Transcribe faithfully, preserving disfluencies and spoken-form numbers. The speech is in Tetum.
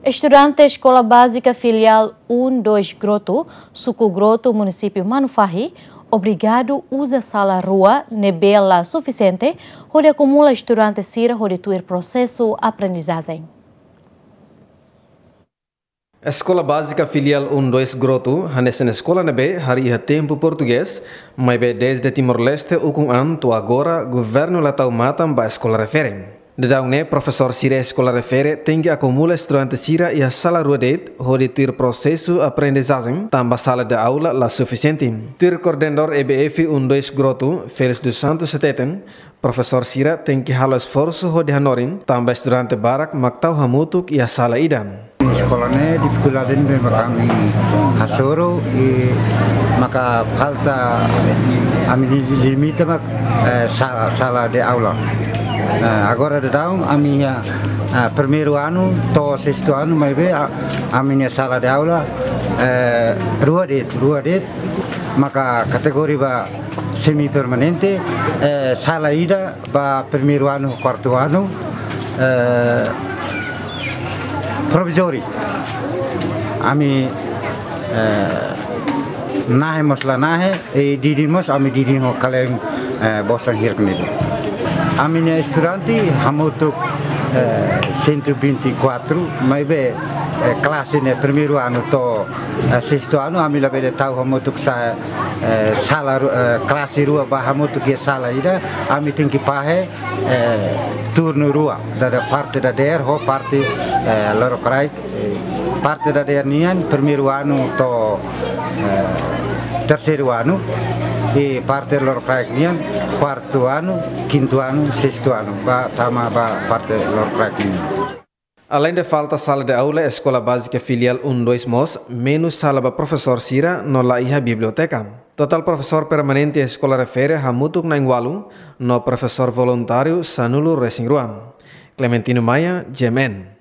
Estudante Eskola Bázika Filiál um dois Grotu, Suku Grotu, Munisípiu Manufahi, obrigadu uza sala rua ne'ebé la sufisiente, hodi akumula estudante sira hodi tuir prosesu aprendizajen. Eskola Bázika Filiál um dois Grotu, hanesan eskola ne'ebé harii iha tempu portugés, maibé dezde Timor-Leste ukun an to'o agora, governu la tau matan ba eskola refere. Daudaun ne'e, profesór sira eskola refere tenke akumula estudante sira iha sala rua de'it, hodi tuir prosesu aprendizajen, tanba sala de aula la sufisiente. Tuir koordenadór E B F um dois Grotu, Félix dos Santos hateten, profesór sira tenke halo esforsu hodi hanorin, tanba estudante barak mak tau hamutuk iha sala ida. Eskola ne'e difikuldade ne'ebé mak ami hasoru, i maka falta ami-nia limite mak, eh, sala, sala de aula. Eh, agora daudaun ami iha, eh, primeiru anu to'o sestu anu, maibé, ah, ami-nia sala de aula, eh, rua de'it, rua de'it, maka kategoria ba semi permanente, eh, sala ida ba primeiru anu, kuartu anu, eh, provizóriu. Ami, eh, nahe mós la nahe, i didin mós ami didin ho kalen, eh, bosan hirak ne'e. Ami-nia estudante hamutuk, eh, cento e vinte e quatro, maibé, eh, klase ne'e primeiru anu to'o, eh, sestu anu, ami labele tau hamutuk sa-, eh, sala ru-, eh, klase rua ba hamutuk iha sala ida, ami tenke fahe, eh, turnu rua, dada parte dadeer ho parte, eh, lorokraik, eh, parte dadeer nian, primeiru anu to'o, eh, terseiru anu, i parte lorokraik nian, kuartu anu, kintu anu, sestu anu, ba tama ba parte lorokraik nian. Aleinde falta sala de aula, Eskola Bázika Filiál um dois mós menus sala ba profesór sira no la iha biblioteka. Totál profesór permanente eskola refere hamutuk na'in ualu, no profesór voluntáriu sanulu-resin-rua. Clementino Maia, G M N.